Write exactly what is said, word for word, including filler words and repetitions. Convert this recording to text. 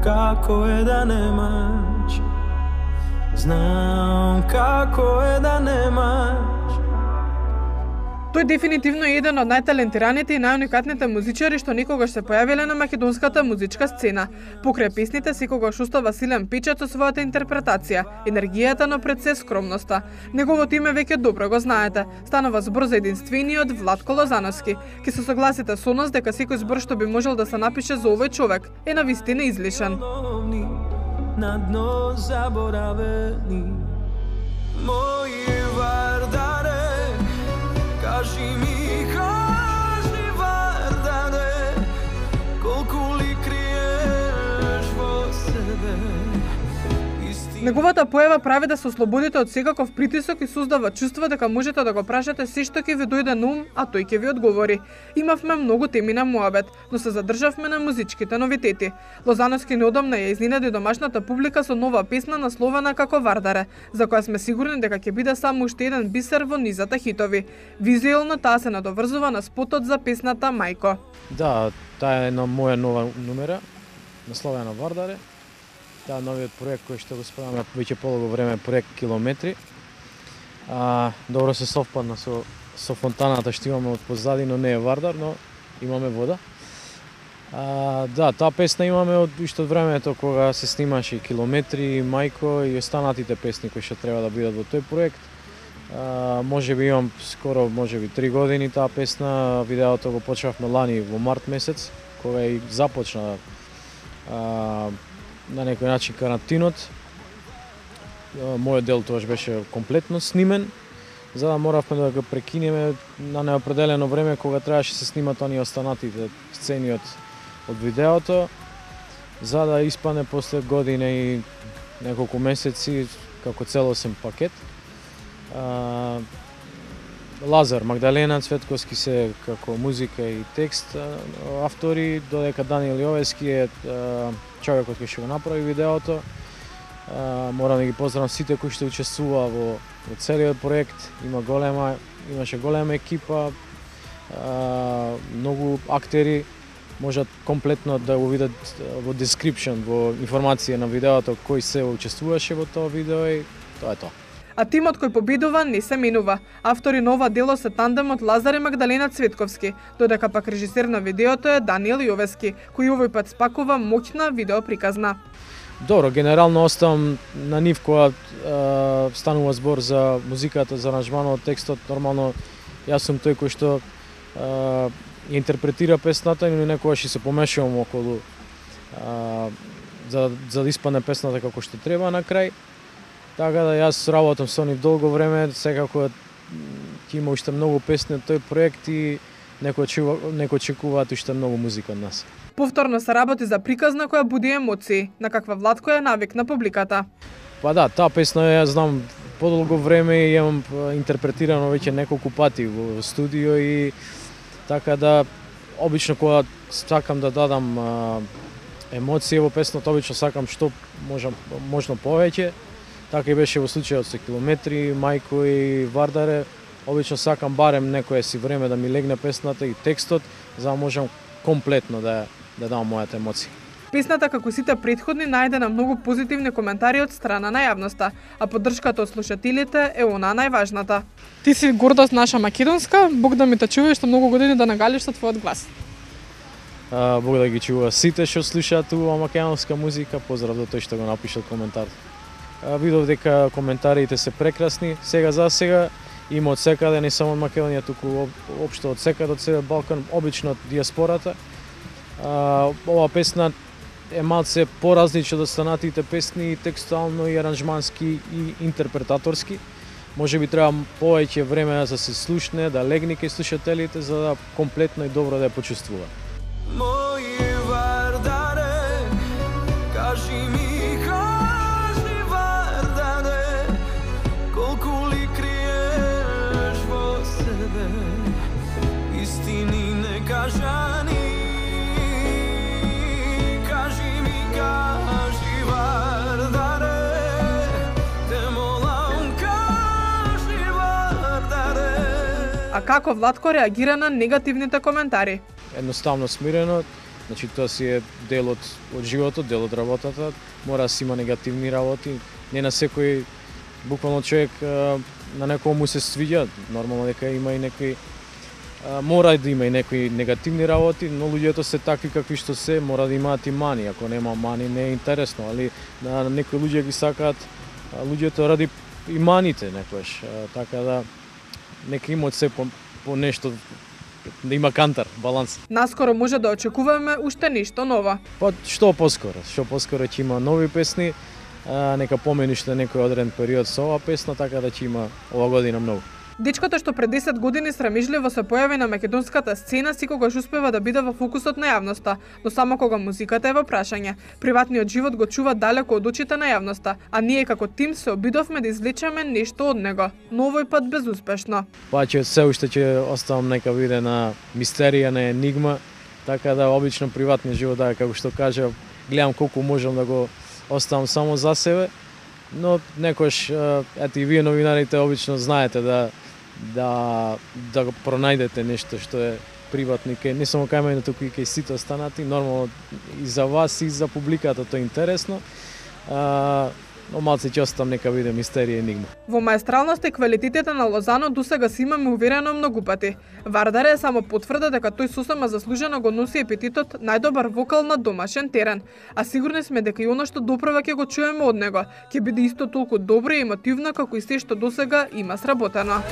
како е да немаш. Знам како е да немаш. Тој дефинитивно е еден од најталентираните и најуникатните музичари што никогаш се појавиле на македонската музичка сцена. Покрај песните секогаш остава силен печат со својата интерпретација, енергијата, но пред се скромноста. Неговото име веќе добро го знаете. Станува збор за единствениот Владко Лозановски. Ке се согласите со нас дека секој збор што би можел да се напише за овој човек е навистина излишен. На дно заборавени мои вардаре. Кажи ми, кажи Вардаре, колку ли криеш во себе. Неговата појава прави да се ослободите од секаков притисок и создава чувство дека можете да го прашате се што ќе ви дојде на ум, а тој ќе ви одговори. Имавме многу теми на муабет, но се задржавме на музичките новитети. Лозановски неодамна ја изненади домашната публика со нова песна насловена како Вардаре, за која сме сигурни дека ќе биде само уште еден бисер во низата хитови. Визуелно таа се надоврзува на спотот за песната Мајко. Да, таа е една моја нова номера, насловена Вардаре. Таа новиот проект кој што го спремаме веќе полого време, проект Километри. А, добро се совпадна со со фонтаната што имаме од позади, но не е Вардар, но имаме вода. А, да, таа песна имаме од уште од времето кога се снимаше Километри, Мајко и останатите песни кои што треба да бидат во тој проект. А, може би имам скоро, може би три години таа песна, видеото го почнавме лани во март месец, кога и започна а, на некој начин карантинот. Мојот дел тоаш беше комплетно снимен, за да моравме да го прекинеме на неопределено време кога требаше се снимат оние останатите сцени од, од видеото, за да испане после година и неколку месеци како целосен пакет. А, Лазар, Магдалена Цветковски се како музика и текст автори, додека Даниел Јовески е човекот кој што го направи видеото. Морам да ги поздравам сите кои што учествуваа во, во целиот проект. Има голема, имаше голема екипа, многу актери, можат комплетно да го видат во description, во информација на видеото кој се учествуваше во тоа видео и тоа е тоа. А тимот кој победува не се менува. Автори на ова дело се тандемот Лазар и Магдалена Цветковски, додека пак режисер на видеото е Даниел Јовески, кој овој пат спакува моќна видеоприказна. Добро, генерално оставам на нив кога е, станува збор за музиката, за аранжманот, текстот. Нормално јас сум тој кој што е, интерпретира песната, но некогаш и се помешувам околу е, за, за да испадне песната како што треба на крај. Така да јас работам со нив долго време, секако ќе има уште многу песни од тој проект и некој очекуваат уште многу музика од нас. Повторно се работи за приказна која буди емоции, на каква Владко е навикна публиката. Па да, таа песна ја знам подолго време и ја имам интерпретирано веќе неколку пати во студио и така да обично кога сакам да дадам а, емоции во песната, обично сакам што можам можно повеќе. Така и беше во случајот со Километри, Мајко и Вардаре. Обично сакам барем некое си време да ми легне песната и текстот, за да можам комплетно да да дам мојата емоција. Песната, како сите претходни, најде на многу позитивни коментари од страна на јавноста, а поддршката од слушателите е она најважната. Ти си гордост наша македонска, Бог да ми те чува што многу години да нагалиш со твојот глас. А, Бог да ги чува сите што слушаат ова македонска музика, поздрав за тој што го напишал коментар. Видов дека коментарите се прекрасни, сега за сега има од секаде, не само од Македонија, туку општо од секаде, од целиот Балкан, обично од диаспората. Ова песна е малце поразлична од останатите песни, текстуално и аранжмански и интерпретаторски. Може би треба повеќе време да се слушне, да легне кај слушателите, за да комплетно и добро да ја почувствува. Мои Вардаре, кажи ми, кажани, кажи ми, кажи Вардаре, те молам, кажи Вардаре. А како Владко реагира на негативните коментари? Едноставно смирено, Значи тоа си е дел од, од животот, дел од работата, мора да си има негативни работи, не на секој буквално човек на некој му се свиѓа, нормално дека има и некои мора да има и некои негативни работи, но луѓето се такви какви што се, мора да имаат и мани, ако нема мани не е интересно, али на некои луѓе ги сакаат луѓето ради и маните некојаш, така да нека имаат се по, по нешто, да има кантар, баланс. Наскоро може да очекуваме уште нешто ново. Па што поскоро, што поскоро ќе има нови песни, а, нека помени што некој одреден период со ова песна, така да ќе има ова година многу. Дечкото што пред десет години срамежливо се појави на македонската сцена секогаш успева да биде во фокусот на јавноста, но само кога музиката е во прашање. Приватниот живот го чува далеко од очите на јавноста, а ние како тим се обидовме да извлечеме нешто од него, но овој пат безуспешно. Па ќе се уште ќе оставам нека биде на мистерија, на енигма, така да обично приватниот живот, да, како што кажа, гледам колку можам да го оставам само за себе, но некош, ете и вие новинарите обично знаете да да да го пронајдете нешто што е приватно, не само кај мене, туку и кај сите останати, нормално и за вас и за публиката тоа е интересно. А, но малце ќе оставам нека биде мистерија и енигма. Во маестралноста и квалитетите на Лозано досега си имаме уверено многу пати. Вардаре е само потврда дека тој сосема заслужено го носи епитетот најдобар вокал на домашен терен, а сигурни сме дека и оно што доправа ќе го чуеме од него, ќе биде исто толку добро и емотивно како и се што досега има сработено.